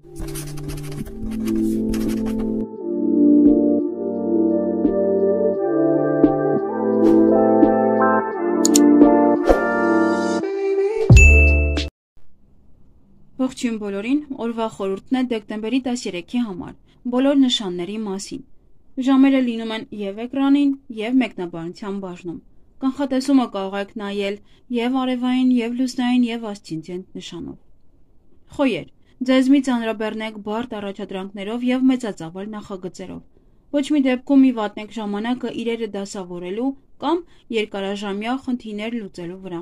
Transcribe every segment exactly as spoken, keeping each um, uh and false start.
Ողջույն բոլորին, օրվա խորհուրդն է դեկտեմբերի տասներեքի համար, բոլոր նշանների մասին։ Ժամերը լինում են և էկրանին, և մեկնաբանության բաժնում։ Կանխատեսումը կարող եք նայել և արևային, և լուսնային, և ասցենդենտ նշանով։ Խոյեր, ձեզ մի ծանրաբեռնեք բարդ առաջադրանքներով և մեծածավալ նախագծերով։ Ոչ մի դեպքում մի վատնեք ժամանակը իրերը դասավորելու կամ երկարաժամյա խնդիրներ լուծելու վրա։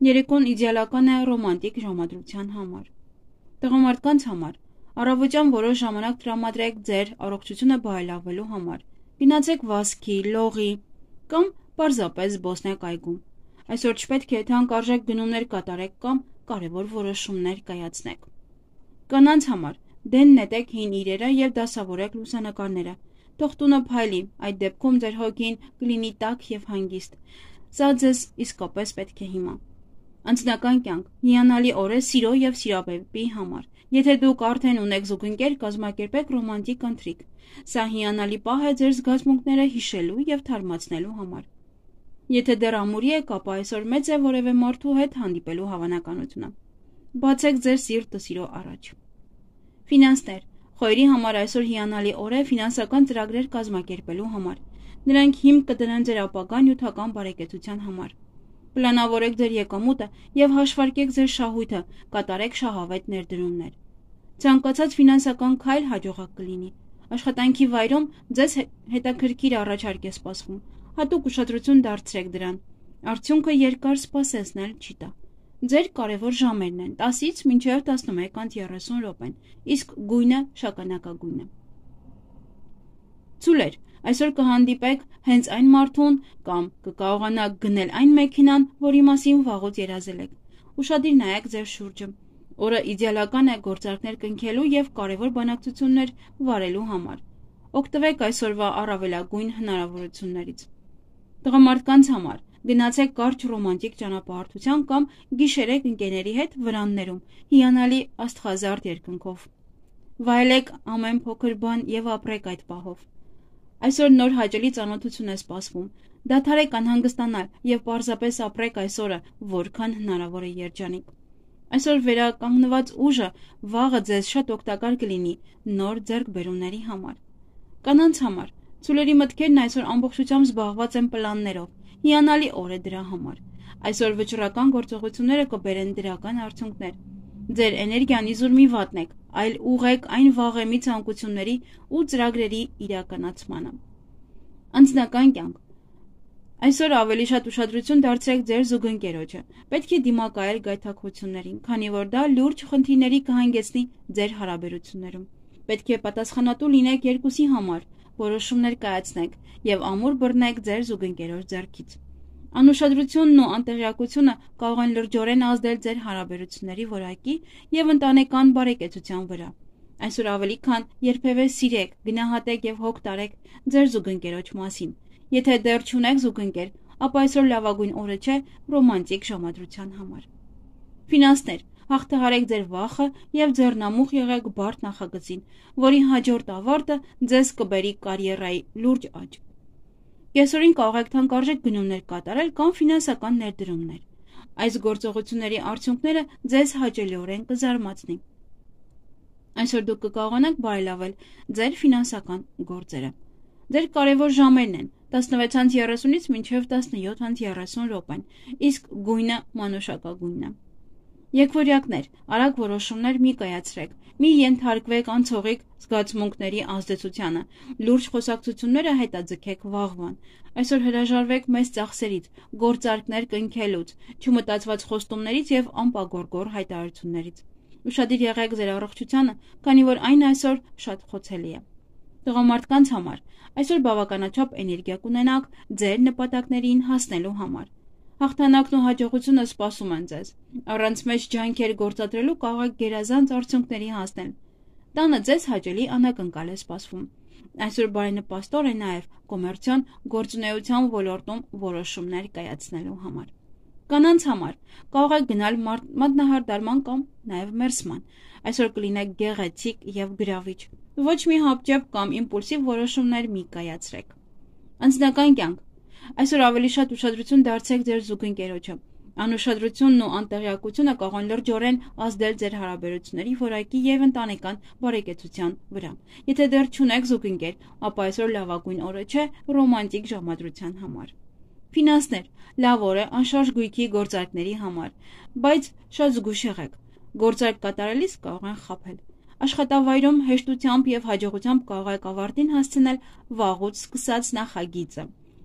Երեկոն իդեալական է ռոմանտիկ ժամադրության համար։ Տղամարդկանց համար առավոտյան որոշ ժամանակ տրամադրեք ձեր առողջությունը բարելավելու համար։ Գնացեք վազքի, լողի կամ պարզապես զբոսնեք այգում։ Այսօր չպետք է թանկարժեք գնումներ կատարեք կամ կարևոր որոշումներ կայացնեք։ Կանանց համար դեն նետեք հին իրերը և դասավորեք լուսանկարները։ Թող տունը փայլի, այդ դեպքում ձեր հոգին կլինի տաք և հանգիստ։ Սա ձեզ իսկապես պետք է հիմա։ Անձնական կյանք հիանալի օր է սիրո և սիրավեպի համար։ Եթե դուք արդեն ունեք զուգընկեր, կազմակերպեք ռոմանտիկ ընթրիք։ Սա հիանալի պահ է ձեր զգացմունքները հիշելու և թարմացնելու համար։ Եթե դեռ ամուրի եք, ապա այսօր մեծ է որևէ մարդու հետ հանդիպելու հավանականությունը։ Բացեք ձեր սիրտը սիրո առաջ։ Ֆինանսներ Խոյերի համար այսօր հիանալի օր է ֆինանսական ծրագրեր կազմակերպելու համար։ Նրանք հիմք կդնեն ձեր ապագա նյութական բարեկեցության համար։ Պլանավորեք ձեր եկամուտը և հաշվարկեք ձեր շահույթը, կատարեք շահավետ ներդրումներ։ Ցանկացած ֆինանսական քայլ հաջողակ կլինի։ Աշխատանքի վայրում ձեզ հետաքրքիր առաջարկ է սպասվում։ Հատուկ ուշադրություն դարձրեք դրան։ Արդյունքը երկար սպասեցնել չի տա։ Ձեր կարևոր ժամերն են տասից մինչև տասնմեկ անց երեսուն րոպեն, իսկ գույնը շագանակագույն է։ Ցուլեր Այսօր կհանդիպեք հենց այն մարդուն կամ կկարողանաք գնել այն մեքենան, որի մասին վաղուց երազել եք։ Ուշադիր նայեք ձեր շուրջը։ Օրը իդեալական է գործարքներ կնքելու և կարևոր բանակցություններ վարելու համար։ Օգտվեք այսօրվա առավելագույն հնարավորություններից։ Տղամարդկանց համար գնացեք կարճ ռոմանտիկ ճանապարհորդության կամ գիշերեք ընկերների հետ վրաններում հիանալի աստղազարդ երկնքով։ Վայելեք ամեն փոքր բան և ապրեք այդ պահով։ Այսօր նոր հաճելի ծանոթություն է սպասվում։ Դադարեք անհանգստանալ և պարզապես ապրեք այս օրը, որքան հնարավոր է երջանիկ։ Այսօր վերականգնված ուժը վաղը ձեզ շատ օգտակար կլինի նոր ձեռքբերումների համար։ Կանանց համար ցուլերի մտքերն այսօր ամբողջությամբ զբաղված են պլաններով։ Հիանալի օր է դրա համար։ Այսօր վճռական գործողությունները կբերեն դրական արդյունքներ։ Ձեր էներգիան իզուր մի վատնեք, այլ ուղղեք այն վաղեմի ցանկությունների ու ծրագրերի իրականացմանը։ Անձնական կյանք Այսօր ավելի շատ ուշադրություն դարձրեք ձեր զուգընկերոջը։ Պետք է դիմակայել գայթակղություններին, քանի որ դա լուրջ խնդիրների կհանգեցնի ձեր հարաբերություններում։ Պետք է պատասխանատու լինեք երկուսի համար, որոշումներ կայացնեք և ամուր բռնեք ձեր զուգընկերոջ ձեռքից։ Անուշադրությունն ու անտեղյակությունը կարող են լրջորեն ազդել ձեր հարաբերությունների որակի և ընտանեկան բարեկեցության վրա։ Այսօր ավելի քան երբևէ սիրեք, գնահատեք և հոգ տարեք ձեր զուգընկերոջ մասին։ Եթե դեռ չունեք զուգընկեր, ապա այսօր լավագույն օրը չէ ռոմանտիկ ժամադրության համար։ Ֆինանսներ Հաղթահարեք ձեր վախը և ձեռնամուխ եղեք բարդ նախագծին, որի հաջորդ ավարտը ձեզ կբերի կարիերայի լուրջ աճ։ Կեսօրին կարող եք թանկարժեք գնումներ կատարել կամ ֆինանսական ներդրումներ։ Այս գործողությունների արդյունքները ձեզ հաճելիորեն կզարմացնի։ Այսօր դուք կկարողանաք բարելավել ձեր ֆինանսական գործերը։ Ձեր կարևոր ժամերն են տասնվեց երեսունից մինչև տասնյոթ երեսուն րոպեն, իսկ գույնը մանուշակագույնն է։ Եկվորյակներ, արագ որոշումներ մի կայացրեք, մի ենթարկվեք անցողիկ զգացմունքների ազդեցությանը, լուրջ խոսակցությունները հետաձգեք վաղվան։ Այսօր հրաժարվեք մեծ ծախսերից, գործարքներ կնքելուց, չմտածված խոստումներից և անպագորգոր հայտարարություններից։ Ուշադիր եղեք ձեր առողջությանը, քանի որ այն այսօր շատ խոցելի է։ Տղամարդկանց համար այսօր բավականաչափ էներգիա կունենաք ձեր նպատակներին հասնելու համար։ Հաղթանակն ու հաջողությունը սպասում են ձեզ։ Առանց մեծ ջանքեր գործադրելու կարող եք գերազանց արդյունքների հասնել։ Տանը ձեզ հաճելի անակնկալ է սպասվում։ Այսօր բարենպաստ օր է նաև կոմերցիոն գործունեության ոլորտում որոշումներ կայացնելու համար։ Կանանց համար կարող եք գնալ մատնահարդարման կամ նաև մերսման, այսօր կլինեք գեղեցիկ և գրավիչ, ոչ մի հապճեպ կամ իմպուլսիվ որոշումներ մի կայացրեք։ Անձնական կյանք, այսօր ավելի շատ ուշադրություն դարձրեք ձեր զուգընկերոջը, անուշադրությունն ու անտեղյակությունը կարող են լրջորեն ազդել ձեր հարաբերությունների որակի և ընտանեկան բարեկեցության վրա։ Եթե դեռ չունեք զուգընկեր, ապա այսօր լավագույն օրը չէ ռոմանտիկ ժամադրության համար։ Ֆինանսներ, լավ օր է անշարժ գույքի գործարքների համար, բայց շատ զգույշ եղեք, գործարք կատարելիս կարող են խաբել։ Աշխատավայրում հեշտությամբ և հաջողությամբ կարող եք ավարտին հասցնել վաղուց սկսած նախագիծը։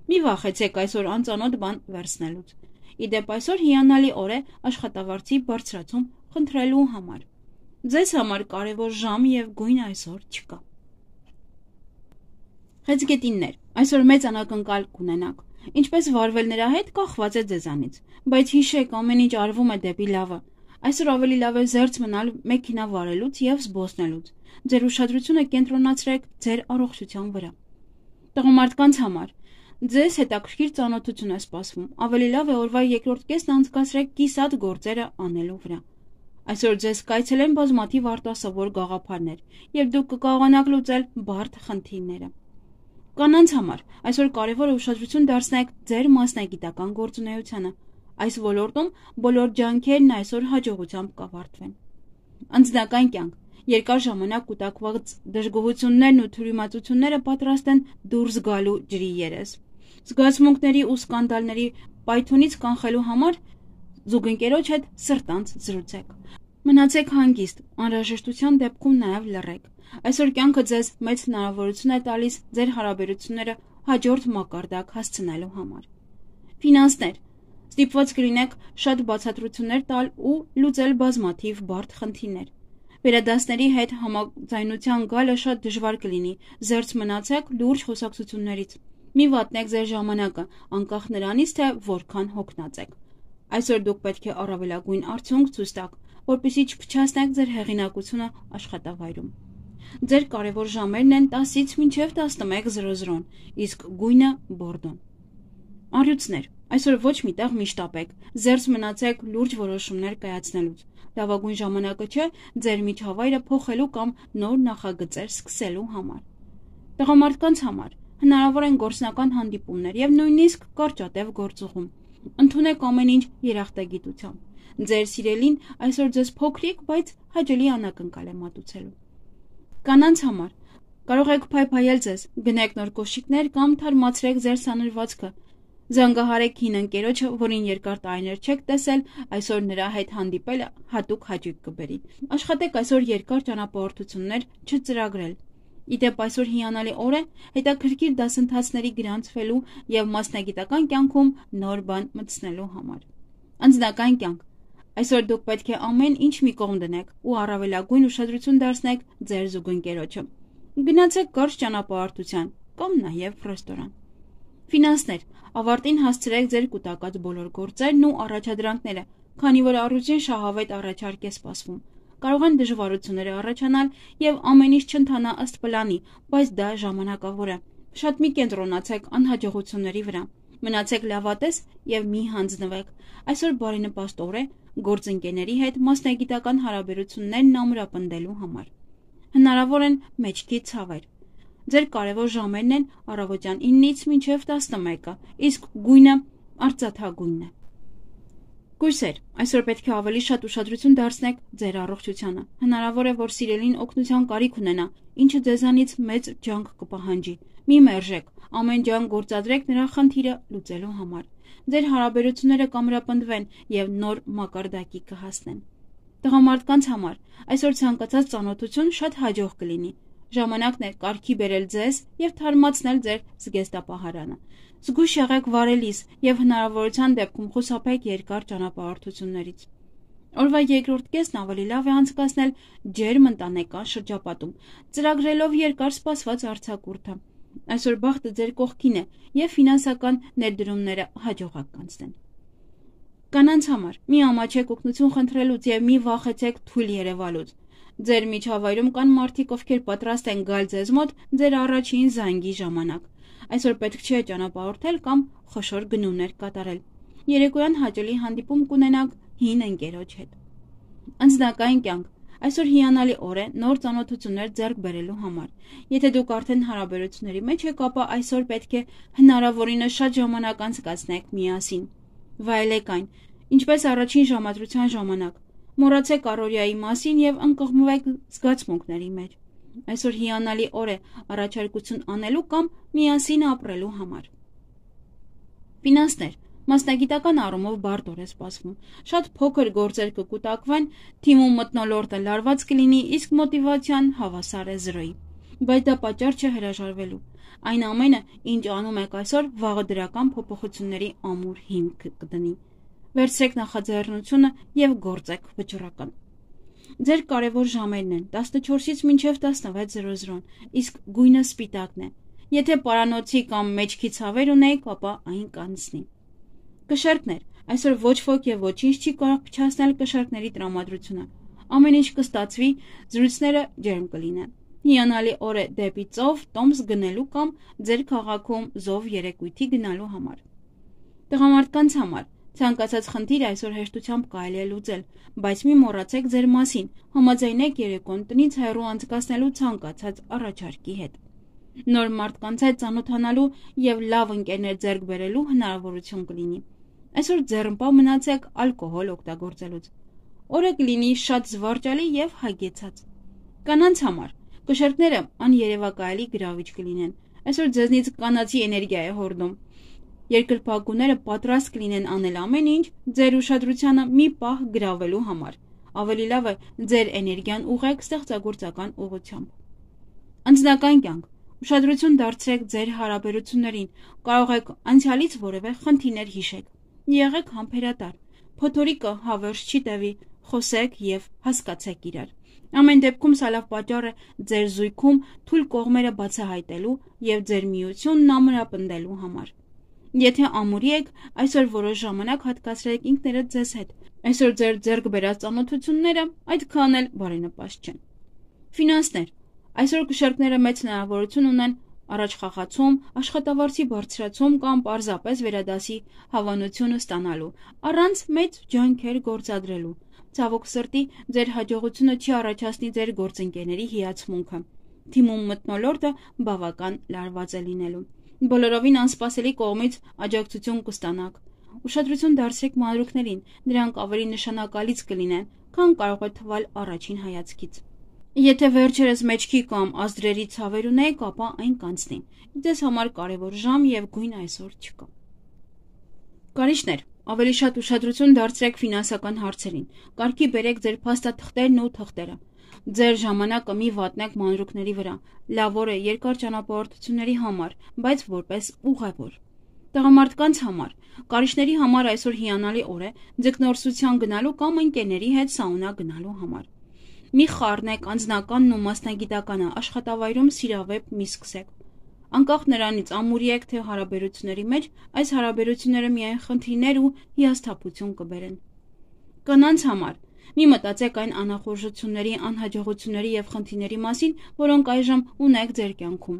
Մի վախեցեք այսօր անծանոթ բան վերցնելուց։ Իդեպ այսօր հիանալի օր է աշխատավարձի բարձրացում խնդրելու համար։ Ձեզ համար կարևոր ժամ և գույն այսօր չկա։ Խեցգետիններ, այսօր մեծ անակնկալ կունենաք։ Ինչպես վարվել նրա հետ կախված է ձեզանից, բայց հիշեք, ամեն ինչ արվում է դեպի լավը։ Այսօր ավելի լավ է զերծ մնալ մեքենա վարելուց և զբոսնելուց։ Ձեր ուշադրությունը կենտրոնացրեք ձեր առողջության վրա։ Տղամարդկանց համար ձեզ հետաքրքիր ծանոթություն է սպասվում, ավելի լավ է օրվա երկրորդ կեսն անցկացրեք կիսատ գործերը անելու վրա։ Այսօր ձեզ կայցելեն բազմաթիվ արտասովոր գաղափարներ, և դուք կկարողանաք լուծել բարդ խնդիրները։ Կանանց համար այսօր կարևոր է ուշադրություն դարձնեք ձեր մասնագիտական գործունեությանը։ Այս ոլորտում բոլոր ջանքերն այսօր հաջողությամբ կավարտվեն։ Անձնական կյանք, երկար ժամանակ կուտակված դժգոհություններն ու թյուրիմացությունները պատրաստ են դուրս գալու ջրի երես։ Զգացմունքների ու սկանդալների պայթյունից կանխելու համար զուգընկերոջ հետ սրտանց զրուցեք։ Մնացեք հանգիստ, անհրաժեշտության դեպքում նաև լռեք։ Այսօր կյանքը ձեզ մեծ հնարավորություն է տալիս ձեր հարաբերությունները հաջորդ մակարդակ հասցնելու համար։ Ֆինանսներ, ստիպված կլինեք շատ բացատրություններ տալ ու լուծել բազմաթիվ բարդ խնդիրներ։ Վերադասների հետ համաձայնության գալը շատ դժվար կլինի, զերծ մնացեք լուրջ խոսակցություններից։ Մի վատնեք ձեր ժամանակը, անկախ նրանից, թե որքան հոգնած եք։ Այսօր դուք պետք է առավելագույն արդյունք ցույց տաք, որպեսզի չփչացնեք ձեր հեղինակությունը աշխատավայրում։ Ձեր կարևոր ժամերն են տասից մինչև տասնմեկ զրոզրոն, իսկ գույնը բորդոն։ Առյուծներ, այսօր ոչ մի տեղ մի շտապեք, զերծ մնացեք լուրջ որոշումներ կայացնելուց։ Լավագույն ժամանակը չէ ձեր միջավայրը փոխելու կամ նոր նախագծեր սկսելու համար։ Տղամարդկանց համար հնարավոր են գործնական հանդիպումներ և նույնիսկ կարճատև գործուղում։ Ընդունեք ամեն ինչ երախտագիտությամբ։ Ձեր սիրելին այսօր ձեզ փոքրիկ, բայց հաճելի անակնկալ է մատուցելու։ Կանանց համար կարող եք փայփայել ձեզ, գնեք նոր կոշիկներ կամ թարմացրեք ձեր սանրվածքը։ Զանգահարեք հին ընկերոջը, որին երկար տարիներ չեք տեսել, այսօր նրա հետ հանդիպելը հատուկ հաճույք կբերի։ Աշխատեք այսօր երկար ճանապարհորդություններ չծրագրել։ Իդեպ այսօր հիանալի օր է հետաքրքիր դասընթացների գրանցվելու և մասնագիտական կյանքում նոր բան մտցնելու համար։ Անձնական կյանք, այսօր դուք պետք է ամեն ինչ մի կողմ դնեք ու առավելագույն ուշադրություն դարձնեք ձեր զուգընկերոջը։ Գնացեք կարճ ճանապարհորդության կամ նաև ռեստորան։ Ֆինանսներ, ավարտին հասցրեք ձեր կուտակած բոլոր գործերն ու առաջադրանքները, քանի որ առուժին շահավետ առաջարկ է սպասվում։ Կարող են դժվարություններ առաջանալ և ամեն ինչ չընթանա ըստ պլանի, բայց դա ժամանակավոր է։ Շատ մի կենտրոնացեք անհաջողությունների վրա։ Մնացեք լավատես և մի հանձնվեք։ Այսօր բարենպաստ օր է գործընկերների հետ մասնագիտական հարաբերություններն ամրապնդելու համար։ Հնարավոր են մեջքի ցավեր։ Ձեր կարևոր ժամերն են առավոտյան ինից մինչև տասնմեկը, իսկ գույնը արծաթագույնն է։ Կույսեր, այսօր պետք է ավելի շատ ուշադրություն դարձնեք ձեր առողջությանը։ Հնարավոր է, որ սիրելին օգնության կարիք ունենա, ինչը ձեզանից մեծ ջանք կպահանջի։ Մի մերժեք, ամեն ջանք գործադրեք նրա խնդիրը լուծելու համար։ Ձեր հարաբերությունները կամրապնդվեն և նոր մակարդակի կհասնեն։ Տղամարդկանց համար այսօր ցանկացած ծանոթություն շատ հաջող կլինի։ Ժամանակն է կարգի բերել ձեզ և թարմացնել ձեր զգեստապահարանը։ Զգույշ եղեք վարելիս և հնարավորության դեպքում խուսափեք երկար ճանապարհորդություններից։ Օրվա երկրորդ կեսն ավելի լավ է անցկացնել ջերմ ընտանեկան շրջապատում, ծրագրելով երկար սպասված արձակուրդը։ Այսօր բախտը ձեր կողքին է և ֆինանսական ներդրումները հաջողակ կանցնեն։ Կանանց համար մի ամաչեք օգնություն խնդրելուց և մի վախեցեք թույլ երևալուց։ Ձեր միջավայրում կան մարդիկ, ովքեր պատրաստ են գալ ձեզ մոտ ձեր առաջին զանգի ժամանակ։ Այսօր պետք չէ ճանապարհորդել կամ խոշոր գնումներ կատարել։ երեկոյան հաճելի հանդիպում կունենաք հին ընկերոջ հետ։ Անձնակային կյանք։ Այսօր հիանալի օր է նոր ծանոթություններ ձեռք բերելու համար։ Եթե դուք արդեն հարաբերությունների մեջ եք, ապա այսօր պետք է հնարավորինս շատ ժամանակ անցկացնեք միասին։ Վայելեք այն, ինչպես առաջին ժամադրության ժամանակ։ Մոռացեք առօրյայի մասին եւ ընկղմվեք զգացմունքների մեջ։ Այսօր հիանալի օր է առաջարկություն անելու կամ միասին ապրելու համար։ Ֆինանսներ։ Մասնագիտական առումով բարդ օր է սպասվում։ Շատ փոքր գործեր կկուտակվեն, թիմում մթնոլորտը լարված կլինի, իսկ մոտիվացիան հավասար է զրոյի։ Բայց դա պատճառ չէ հրաժարվելու։ Այն ամենը, ինչ անում եք այսօր, վաղը դրական փոփոխությունների ամուր հիմք կդնի։ Վերցրեք նախաձեռնությունը եւ գործեք վճռական։ Ձեր կարևոր ժամերն են տասնչորսից մինչև տասնվեց զրո զրոն, իսկ գույնը սպիտակն է։ Եթե պարանոցի կամ մեջքի ցավեր ունեք, ապա այն կանցնի։ Կշեռքներ։ Այսօր ոչ ոք եւ ոչինչ չի կարող փչացնել կշեռքների տրամադրությունը։ Ամեն ինչ կստացվի, զրույցները ջերմ կլինեն։ Հիանալի օր է դեպի ծով, տոմս գնելու կամ ձեր քաղաքում զով երեկույթի գնալու համար։ Տղամարդկանց համար ցանկացած խնդիր այսօր հեշտությամբ կարելի է լուծել, բայց մի մոռացեք ձեր մասին, համաձայնեք երեկոն տնից հեռու անցկացնելու ցանկացած առաջարկի հետ։ Նոր մարդկանց հետ ծանոթանալու եւ լավ ընկերներ ձեռք բերելու հնարավորություն կլինի։ Այսօր ձեռնպա մնացեք ալկոհոլ օգտագործելուց։ Օրը կլինի շատ զվարճալի եւ հագեցած։ Կանանց համար կշեռքները աներևակայելի գրավիչ կլինեն։ Այսօր ձեզնից կանացի էներգիա է հորդում։ Երկրպագուները պատրաստ կլինեն անել ամեն ինչ ձեր ուշադրությանը մի պահ գրավելու համար։ Ավելի լավ է ձեր էներգիան ուղղեք ստեղծագործական ուղղությամբ։ Անձնական կյանք։ Ուշադրություն դարձրեք ձեր հարաբերություններին, կարող եք անցյալից որևէ խնդիրներ հիշեք։ Եղեք համբերատար։ Փոթորիկը հավերժ չի տևի, խոսեք եւ հասկացեք իրար։ Ամեն դեպքում սա լավ պատճառ է ձեր զույգում թույլ կողմերը բացահայտելու եւ ձեր միությունն ամրապնդելու համար։ Եթե ամուրի եք, այսօր որոշ ժամանակ հատկացրեք ինքներդ ձեզ հետ։ Այսօր ձեր ձեռք բերած ծանոթությունները այդքան էլ բարենպաստ չեն։ Ֆինանսներ։ Այսօր կշեռքները մեծ հնարավորություն ունեն առաջխաղացում, աշխատավարձի բարձրացում կամ պարզապես վերադասի հավանություն ստանալու, առանց մեծ ջանքեր գործադրելու։ Ցավոք սրտի, ձեր հաջողությունը չի առաջացնի ձեր գործընկերների հիացմունքը։ Թիմում մթնոլորտը բավական լարված է լինելու։ Բոլորովին անսպասելի կողմից աջակցություն կստանաք։ Ուշադրություն դարձրեք մանրուքներին, նրանք ավելի նշանակալից կլինեն, քան կարող է թվալ առաջին հայացքից։ Եթե վերջերս մեջքի կամ ազդրերի ցավեր ունեք, ապա այն կանցնի։ Ձեզ համար կարևոր ժամ եւ գույն այսօր չկա։ Կարիճներ, ավելի շատ ուշադրություն դարձրեք ֆինանսական հարցերին։ Կարգի բերեք ձեր փաստաթղթերն ու թղթերը։ Ձեր ժամանակը մի վատնեք մանրուքների վրա։ Լավ օր է երկար ճանապարհորդությունների համար, բայց որպես ուղևոր։ Տղամարդկանց համար, կարիճների համար այսօր հիանալի օր է ձկնորսության գնալու կամ ընկերների հետ սաունա գնալու համար։ Մի խառնեք անձնականն ու մասնագիտականը, աշխատավայրում սիրավեպ մի սկսեք։ Անկախ նրանից ամուրի եք թե հարաբերությունների մեջ, այս հարաբերությունները միայն խնդիրներ ու հիասթափություն կբերեն։ Կանանց համար մի մտածեք այն անախորժությունների, անհաջողությունների եւ խնդիրների մասին, որոնք այժմ ունեք ձեր կյանքում։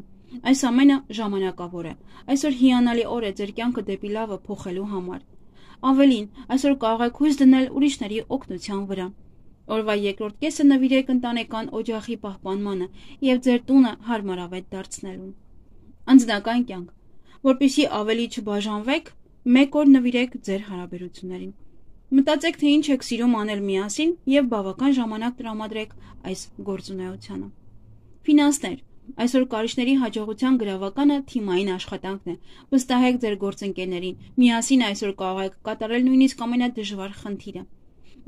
Այս ամենը ժամանակավոր է։ Այսօր հիանալի օր է ձեր կյանքը դեպի լավը փոխելու համար։ Ավելին, այսօր կարող եք հույս դնել ուրիշների օգնության վրա։ Օրվա երկրորդ կեսը նվիրեք ընտանեկան օջախի պահպանմանը եւ ձեր տունը հարմարավետ դարձնելուն։ Անձնական կյանք, որպեսզի ավելի չբաժանվեք, մեկ օր նվիրեք ձեր հարաբերություններին։ Մտածեք, թե ինչ եք սիրում անել միասին եւ բավական ժամանակ տրամադրեք այս գործունեությանը։ Ֆինանսներ, այսօր կարիճների հաջողության գրավականը թիմային աշխատանքն է։ Վստահեք ձեր գործընկերներին, միասին այսօր կարող եք կատարել նույնիսկ ամենադժվար խնդիրը։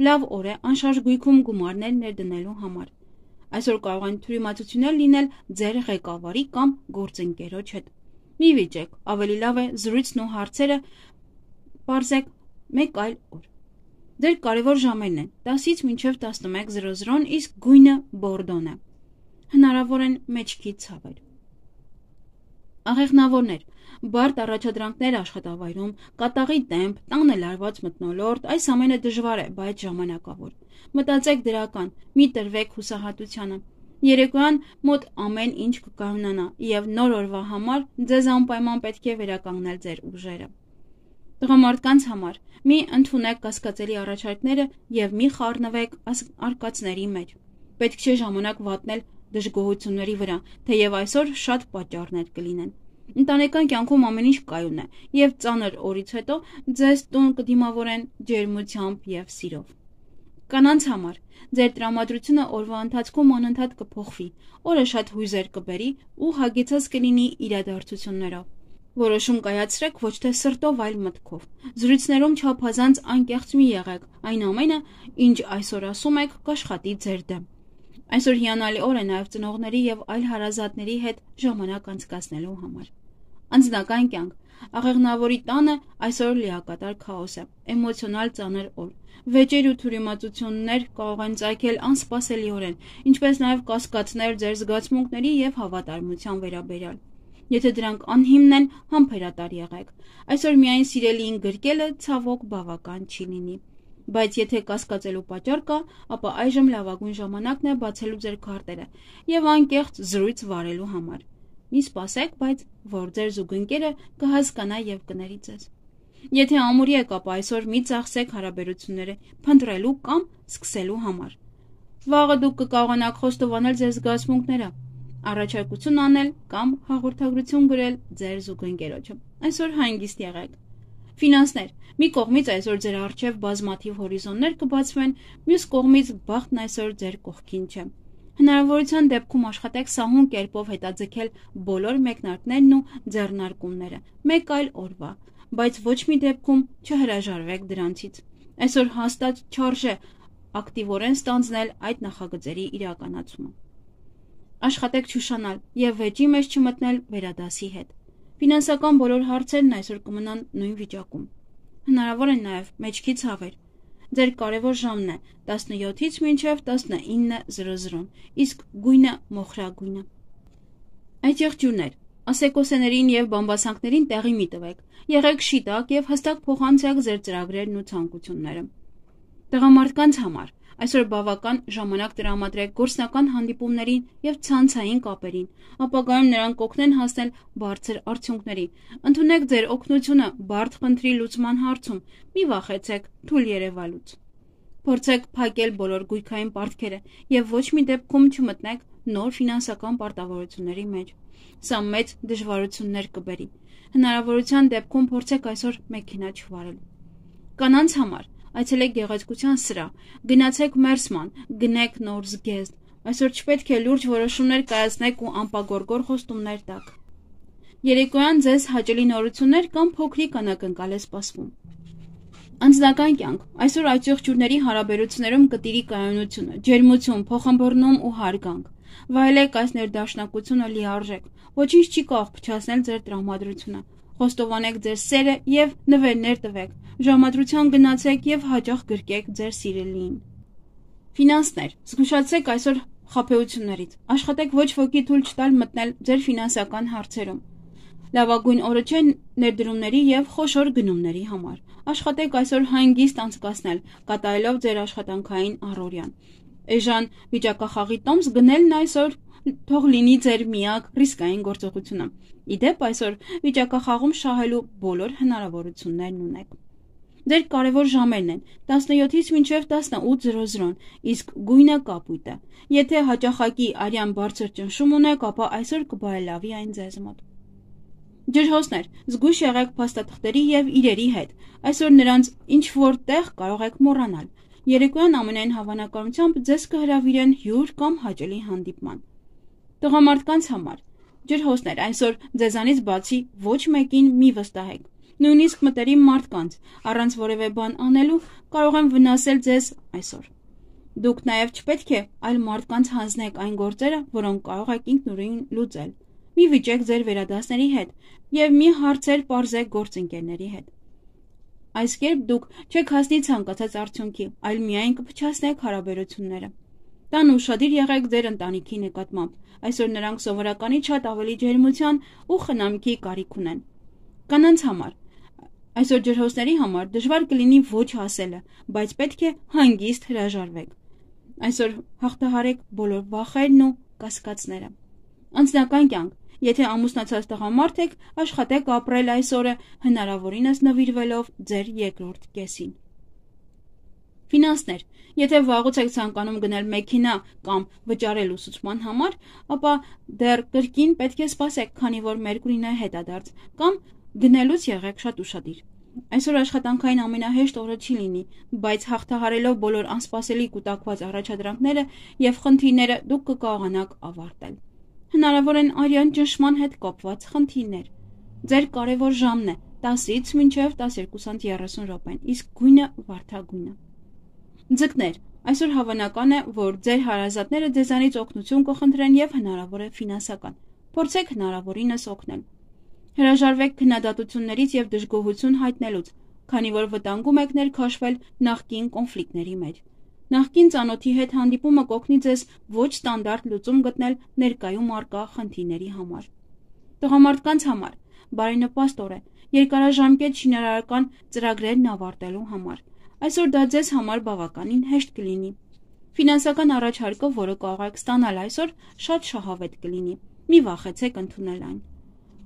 Լավ օր է անշարժ գույքում գումարներ ներդնելու համար։ Այսօր կարող են թյուրիմացություններ լինել ձեր ղեկավարի կամ գործընկերոջ հետ։ Մի վիճեք, ավելի լավ է զրույցն ու հարցերը պարզեք մեկ այլ օր։ Ձեր կարևոր ժամերն են տասից մինչև տասնմեկ զրո զրոն, իսկ գույնը բորդոն է։ Հնարավոր են մեջքի ցավեր։ Աղեղնավորներ, բարդ առաջադրանքներ աշխատավայրում, կատաղի տեմպ, տանը լարված մթնոլորտ, այս ամենը դժվար է, բայց ժամանակավոր։ Մտածեք դրական, մի տրվեք հուսահատությանը։ Երեկոյան մոտ ամեն ինչ կկարողանա եւ նոր օրվա համար ձեզ անպայման պետք է վերականգնել ձեր ուժերը։ Տղամարդկանց համար մի ընդունեք կասկածելի առաջարկները եւ մի խառնվեք արկածների մեջ։ Պետք չէ ժամանակ վատնել դժգոհությունների վրա, թեև այսօր շատ պատճառներ կլինեն։ Ընտանեկան կյանքում ամեն ինչ կայուն է, եւ ծանր օրից հետո ձեզ տուն կդիմավորեն ջերմությամբ եւ սիրով։ Կանանց համար ձեր տրամադրությունը օրվա ընթացքում անընդհատ կփոխվի, օրը շատ հույզեր կբերի ու հագեցած կլինի իրադարձություններով։ Որոշում կայացրեք ոչ թե սրտով, այլ մտքով։ Զրույցներում չափազանց անկեղծ մի եղեք, այն ամենը, ինչ այսօր ասում եք, կաշխատի ձեր դեմ։ Այսօր հիանալի օր է նաև ծնողների եւ այլ հարազատների հետ ժամանակ անցկացնելու համար։ Անձնական կյանք։ Աղեղնավորի տանը այսօր լիակատար քաոս է, էմոցիոնալ ծանր օր։ Վեճեր ու թյուրիմացություններ կարող են ծագել անսպասելիորեն, ինչպես նաև կասկածներ ձեր զգացմունքների եւ հավատարմության վերաբերյալ։ Եթե դրանք անհիմն են, համբերատար եղեք։ Այսօր միայն սիրելիին գրկելը ցավոք բավական չի լինի։ Բայց եթե կասկածելու պատճառ կա, ապա այժմ լավագույն ժամանակն է բացելու ձեր քարտերը եւ անկեղծ զրույց վարելու համար։ Մի սպասեք, բայց որ ձեր զուգընկերը կհասկանա եւ կների ձեզ։ Եթե ամուրի եք, ապա այսօր մի ծախսեք հարաբերությունները փնտրելու կամ սկսելու համար։ Վաղը դուք կկարողանաք խոստովանել ձեր զգացմունքները, առաջարկություն անել կամ հաղորդագրություն գրել ձեր զուգընկերոջը։ Այսօր հանգիստ եղեք։ Ֆինանսներ։ Մի կողմից այսօր ձեր առջև բազմաթիվ հորիզոններ կբացվեն, մյուս կողմից բախտն այսօր ձեր կողքին չէ։ Հնարավորության դեպքում աշխատեք սահուն կերպով հետաձգել բոլոր մեկնարկներն ու ձեռնարկումները, մեկ այլ օրվա, բայց ոչ մի դեպքում չհրաժարվեք դրանցից։ Այսօր հաստատ չարժե ակտիվորեն ստանձնել այդ նախագծերի իրականացումը։ Աշխատեք չուշանալ եւ վեճի մեջ չմտնել վերադասի հետ։ Ֆինանսական բոլոր հարցերն այսօր կմնան նույն վիճակում։ Հնարավոր են նաև մեջքի ցավեր։ Ձեր կարևոր ժամն է տասնյոթից մինչև տասնինը զրո զրոն, իսկ գույնը մոխրագույնը։ Այդ եղջյուրներ, ասեկոսեներին եւ բամբասանքներին տեղի մի տվեք։ Եղեք շիտակ եւ հստակ փոխանցեք ձեր ծրագրերն ու ցանկությունները։ Տղամարդկանց համար այսօր բավական ժամանակ տրամադրեք գործնական հանդիպումներին եւ ցանցային կապերին, ապագայում նրանք կօգնեն հասնել բարձր արդյունքների։ Ընդունեք ձեր օգնությունը բարդ խնդրի լուծման հարցում, մի վախեցեք թույլ երևալուց։ Փորձեք փակել բոլոր գույքային պարտքերը եւ ոչ մի դեպքում չմտնեք նոր ֆինանսական պարտավորությունների մեջ։ Սա մեծ դժվարություններ կբերի։ Հնարավորության դեպքում փորձեք այսօր մեքենա չվարել։ Կանանց համար այցելեք գեղեցկության սրահ, գնացեք մերսման, գնեք նոր զգեստ։ Այսօր չպետք է լուրջ որոշումներ կայացնեք ու անպագորգոր խոստումներ տաք։ Երեկոյան ձեզ հաճելի նորություններ կամ փոքրիկ անակնկալ է սպասվում։ Անձնական կյանք։ Այսօր այդ եղջյուրների հարաբերություններում կտիրի կայունությունը, ջերմություն, փոխհմբռնում ու հարգանք։ Վայելեք այս ներդաշնակությունը լիարժեք։ Ոչինչ չի կարող փչացնել ձեր տրամադրությունը։ Խոստովանեք ձեր սերը եւ նվերներ տվեք։ Ժամադրության գնացեք եւ հաճախ գրկեք ձեր սիրելիին։ Ֆինանսներ։ Զգուշացեք այսօր խաբեություններից։ Աշխատեք ոչ ոքի թույլ չտալ մտնել ձեր ֆինանսական հարցերում։ Լավագույն օրը չէ ներդրումների եւ խոշոր գնումների համար։ Աշխատեք այսօր հանգիստ անցկացնել, կատարելով ձեր աշխատանքային առօրյան։ Էժան վիճակախաղի տոմս գնելն այսօր թող լինի ձեր միակ ռիսկային գործողությունը։ Իդեպ այսօր վիճակախաղում շահելու բոլոր հնարավորություններն ունեք։ Ձեր կարևոր ժամերն են տասնյոթից մինչև տասնութ զրո զրոն, իսկ գույնը կապույտը։ Եթե հաճախակի արյան բարձր ճնշում ունեք, ապա այսօր կբարելավի այն ձեզ մոտ։ Ջրհոսներ, զգույշ եղեք փաստաթղթերի եւ իրերի հետ։ Այսօր նրանց ինչ որ տեղ կարող եք մոռանալ։ Երեկոյան ամենայն հավանականությամբ ձեզ կհրավիրեն հյուր կամ հաճելի հանդիպման։ Տղամարդկանց համար ջրհոսներ, այսօր ձեզանից բացի ոչ մեկին մի վստահեք։ Նույնիսկ մտերիմ մարդկանց առանց որևէ բան անելու կարող են վնասել ձեզ այսօր։ Դուք նաև չպետք է այլ մարդկանց հանձնեք այն գործերը, որոնք կարող եք ինքնուրույն լուծել։ Մի վիճեք ձեր վերադասների հետ եւ մի հարցեր պարզեք գործընկերների հետ։ Այս կերպ դուք չեք հասնի ցանկացած արդյունքի, այլ միայն կփչացնեք հարաբերությունները։ Տան ուշադիր եղեք ձեր ընտանիքի նկատմամբ։ Այսօր նրանք սովորականից շատ ավելի ջերմության ու խնամքի կարիք ունեն։ Կանանց համար այսօր ջրհոսների համար դժվար կլինի ոչ ասելը, բայց պետք է հանգիստ հրաժարվեք։ Այսօր հաղթահարեք բոլոր վախերն ու կասկածները։ Անձնական կյանք։ Եթե ամուսնացած տղամարդ եք, աշխատեք ապրել այս օրը, հնարավորինս նվիրվելով ձեր երկրորդ կեսին։ Ֆինանսներ։ Եթե վաղուց եք ցանկանում գնել մեքենա կամ վճարել ուսուցման համար, ապա դեռ կրկին պետք է սպասեք, քանի որ Մերկուրին է հետադարձ, կամ գնելուց եղեք շատ ուշադիր։ Այսօր աշխատանքային ամենահեշտ օրը չի լինի, բայց հաղթահարելով բոլոր անսպասելի կուտակված առաջադրանքները եւ խնդիրները դուք կկարողանաք ավարտել։ Հնարավոր են արյան ճնշման հետ կապված խնդիրներ։ Ձեր կարևոր ժամն է տասից մինչև տասներկու երեսուն րոպեն, իսկ գույնը վարդագույնը։ Ձկներ, այսօր հավանական է, որ ձեր հարազատները ձեզանից օգնություն կխնդրեն եւ հնարավոր է ֆինանսական։ Փորձեք հնարավորինս օգնել։ Հրաժարվեք քննադատություններից եւ դժգոհություն հայտնելուց, քանի որ վտանգում եք ներքաշվել նախկին կոնֆլիկտների մեջ։ Նախկին ծանոթի հետ հանդիպումը կօգնի ձեզ ոչ ստանդարտ լուծում գտնել ներկայում առկա խնդիրների համար։ Տղամարդկանց համար բարենպաստ օր է երկարաժամկետ շինարարական ծրագրերն ավարտելու համար։ Այսօր դա ձեզ համար բավականին հեշտ կլինի։ Ֆինանսական առաջարկը, որը կարող եք ստանալ այսօր, շատ շահավետ կլինի։ Մի վախեցեք ընդունել այն։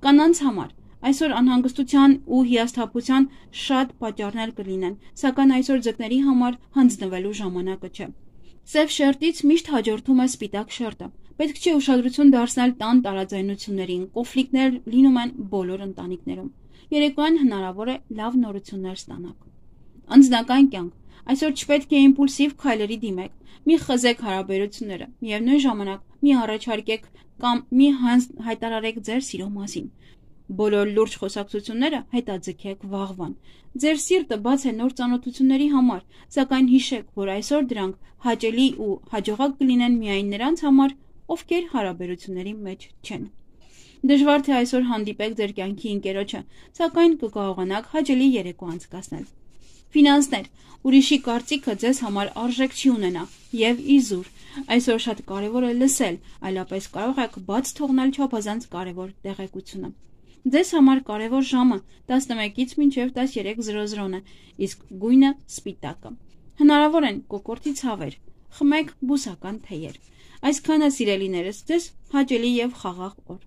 Կանանց համար այսօր անհանգստության ու հիասթափության շատ պատճառներ կլինեն, սակայն այսօր ձկների համար հանձնվելու ժամանակը չէ։ Սև շերտից միշտ հաջորդում է սպիտակ շերտը։ Պետք չէ ուշադրություն դարձնել տան տարաձայնություններին, կոնֆլիկտներ լինում են բոլոր ընտանիքներում։ Երեկոյան հնարավոր է լավ նորություններ ստանաք։ Անձնական կյանք այսօր չպետք է իմպուլսիվ քայլերի դիմեք։ Մի խզեք հարաբերությունները, միևնույն ժամանակ մի առաջարկեք կամ մի հայտարարեք ձեր սիրո մասին։ Բոլոր լուրջ խոսակցությունները հետաձգեք վաղվան։ Ձեր սիրտը բաց է նոր ծանոթությունների համար, սակայն հիշեք, որ այսօր դրանք հաճելի ու հաջողակ կլինեն միայն նրանց համար, ովքեր հարաբերությունների մեջ չեն։ Դժվար թե այսօր հանդիպեք ձեր կյանքի ընկերոջը, սակայն կկարողանաք հաճելի երեկո անցկасնել։ Ֆինանսներ, ուրիշի կարծիքը ձեզ համար արժեք չի ունենա եւ իզուր։ Այսօր շատ կարևոր է լսել, այլապես կարող եք բաց թողնել չափազանց կարևոր տեղեկությունը։ Ձեզ համար կարևոր ժամը տասնմեկից մինչև տասներեք է, իսկ գույնը սպիտակը։ Հնարավոր են կոկորդի ցավեր, խմեք բուսական թեյեր։ Այսքանը սիրելիներս, ձեզ հաճելի եւ խաղաղ օր։